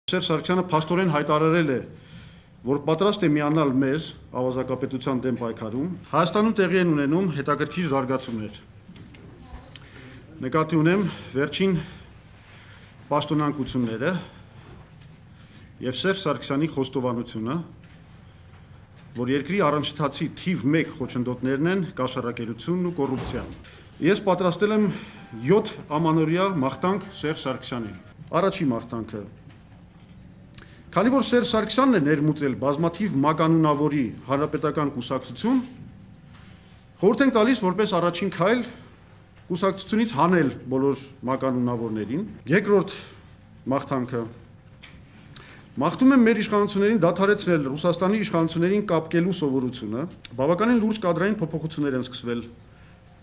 Սերժ Սարգսյանը փաստորեն հայտարարել է, որ պատրաստ է միանալ մեզ ավազակապետության դեմ պայքարում։ Հայաստանում տեղի են ունենում հետաքրքիր զարգացումներ։ Նկատի ունեմ վերջին պաշտոնանկությունները եւ Սերժ Սարգսյանի խոստովանությունը, որ երկրի առնչթացի թիվ 1 խոչընդոտներն են կաշառակերությունն ու կոռուպցիան։ Ես պատրաստել եմ 7 ամանորյա մաղթանք Սերժ Սարգսյանին։ Առաջին մաղթանքը. Քանի որ Սերժ Սարգսյանն է ներմուծել բազմաթիվ մականունավորի հանրապետական կուսակցություն, խորհուրդ ենք տալիս որպես առաջին քայլ կուսակցությունից հանել բոլոր մականունավորներին։ Երկրորդ մաղթանքը. Մաղթում եմ մեր իշխանություններին դադարեցնել Ռուսաստանի իշխանություններին կապկելու սովորությունը, բավականին լուրջ կադրային փոփոխություններ են սկսվել։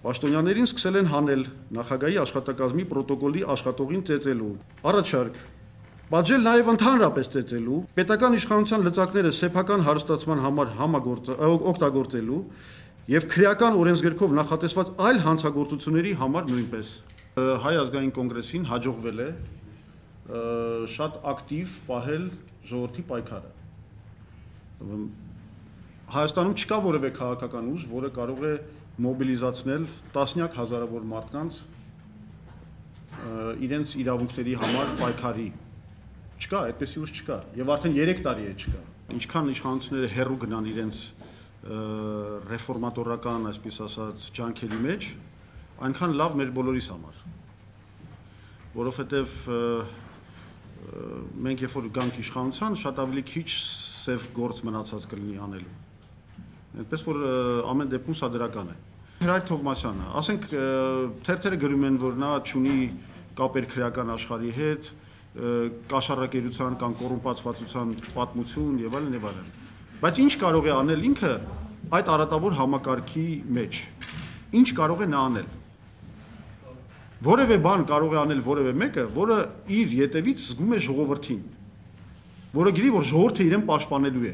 Պաշտոնյաներին սկսել են հանել նախագահի աշխատակազմի պրոտոկոլի աշխատողին ծեծելու։ Առաջարկ. Պատժել նաև ընդհանրապես ծեծելու, պետական իշխանության լծակները սեփական հարստացման համար օգտագործելու եւ քրեական օրենսգրքով նախատեսված այլ հանցագործությունների համար նույնպես։ Հայ ազգային կոնգրեսին հաջողվել է շատ ակտիվ պահել ժողովրդի պայքարը։ Հայաստանում չկա որևէ քաղաքական ուժ, որը կարող է մոբիլիզացնել տասնյակ հազարավոր մարդկանց իրենց իրավունքների համար պայքարի։ Չկա, այդպեսի ուժ չկա, եւ արդեն 3 տարի է չկա։ Ինչքան իշխանությունները հեռու գնան իրենց ռեֆորմատորական, այսպես ասած, ջանքերի մեջ, այնքան լավ մեր բոլորիս համար։ Որովհետեւ մենք երբ որ գանք իշխանության, շատ ավելի քիչ սև գործ մնացած կլինի անելու։ Այնպես որ ամեն դեպքում սա դրական է։ Հրայր Թովմասյանը, ասենք թերթերը գրում են, որ նա ունի կապեր քրեական աշխարհի հետ, կաշառակերության կամ կոռումպացվածության պատմություն եւ այլն եւ այլն։ Բայց ինչ կարող է անել ինքը այդ արատավոր համակարգի մեջ։ Ինչ կարող է նա անել։ Որևէ բան կարող է անել որևէ մեկը, որը իր ետևից զգում է ժողովրդին, որը գիտի, որ ժողովուրդը իրեն պաշտպանելու է։